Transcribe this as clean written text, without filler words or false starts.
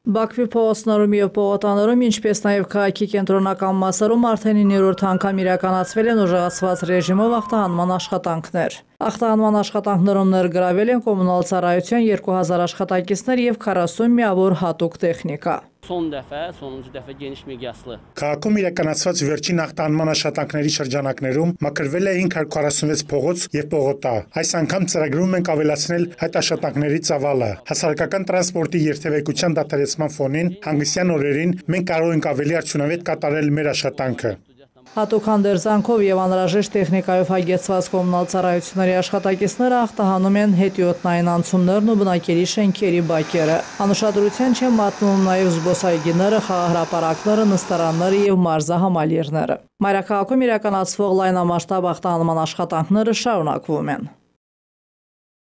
Բաքվի փողոցներում եւ պողոտաներում, ինչպես նաեւ քաղաքի կենտրոնական մասերում արդեն 9-րդ անգամ իրականացվել են ուժեղացված ռեժիմով ախտահանման աշխատանքներ։ Ախտահանման աշխատանքներում ներգրավել են կոմունալ ծառայության 2000 աշխատակիցներ եւ 40 միավոր հատուկ տեխնիկա։ Sonuncu dəfə geniş miqyaslı. Քաղաքում իրականացված վերջին ախտահանման աշխատանքների շրջանակներում մաքրվել է 546 փողոց եւ պողոտա։ Այս անգամ ծրագրում ենք ավելացնել այդ աշխատանքների ծավալը։ Հասարակական տրանսպորտի երթևեկության դադարեցման ֆոնին հանգստյան օրերին մենք կարող ենք ավելի արդյունավետ կատարել մեր աշխատանքը։ Հատուկ հանդերձանքով եւ անհրաժեշտ տեխնիկայով հագեցված կոմունալ ծառայությունների աշխատակիցները ախտահանում են հետիոտնային անցումներն ու բնակելի շենքերի բակերը։ Անուշադրության չեն մատնվում նաեւ զբոսայգիները, խաղահրապարակները, նստարանները եւ մարզահամալիրները։ Մայրաքաղաքում իրականացվող լայնամասշտաբ ախտահանման աշխատանքները շարունակվում են։